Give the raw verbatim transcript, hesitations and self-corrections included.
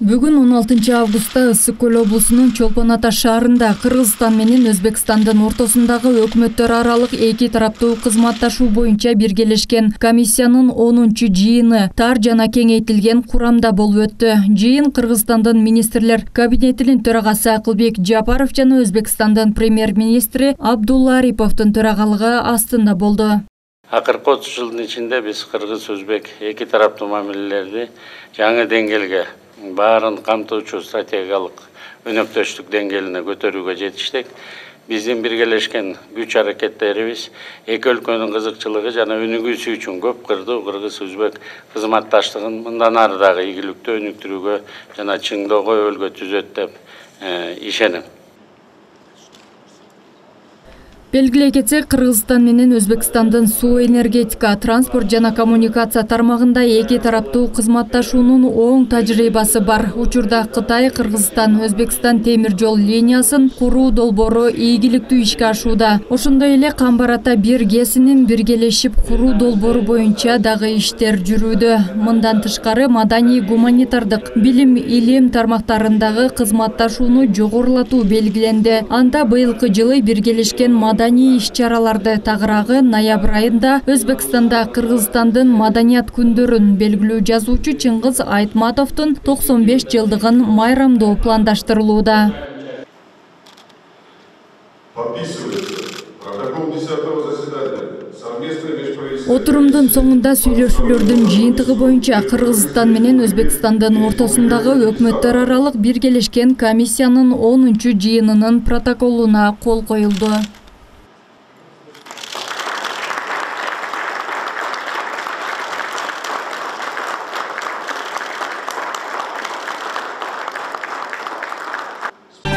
Бүгүн он алтынчы августта Ысык Көл облусунун Чолпон Ата шаарында Кыргызстан менен Өзбекстандын ортосундагы өкмөттөр аралык эки тараптуу кызматташуу боюнча биргелешкен комиссиянын онунчу жыйыны тар жана кеңейтилген курамда болуп өттү. Жыйын Кыргызстандын министрлер кабинетинин төрагасы Акылбек Жапаров жана Өзбекстандын премьер-министри Абдулла Ариповдун төрагалыгы астында болду. Акыркы отуз жылдын ичинде биз Кыргыз-Өзбек эки тараптуу мамилелерди жаңы деңгээлге баарын камтоочу стратегиялык өнөктөштүк деңгээлине көтөрүүгө жетиштик. Биздин биргелешкен күч аракеттерибиз эки өлкөнүн кызыкчылыгы жана өнүгүүсү үчүн көп кырдуу кыргыз-өзбек кызматташтыгын мындан ары дагы ийгиликтүү өнүктүрүүгө жана чыңдоого өбөлгө түзөт деп ишенем. Белгилей кетсек, Кыргызстан менен Өзбекстандын суу энергетика, транспорт жана коммуникация тармагында эки тараптуу кызматташуунун оң тажрыйбасы бар. Учурда Кытай, Кыргызстан, Өзбекстан темир жол линиясын куруу долбоору ийгиликтүү ишке ашууда. Ошондой эле Камбар Ата бир ГЭСинин биргелешип куруу долбоору боюнча дагы иштер жүрүүдө. Мындан тышкары маданий гуманитардык, билим, илим тармактарындагы кызматташууну жогорулатуу белгиленди. Анда быйылкы жылы биргелешкен маданий иш-чараларды тагыраагы ноябрь айында Өзбекстанда Кыргызстандын маданият күндөрүн белгилүү жазуучу Чыңгыз Айтматовдун токсон беш жылдыгын майрамдоо пландаштырылууда. Отурумдун соңунда сүйлөшүүлөрдүн жыйынтыгы боюнча Кыргызстан менен Өзбекстандын ортосундагы өкмөттөр аралык биргелешкен комиссиянын онунчу жыйынынын протоколуна кол коюлду.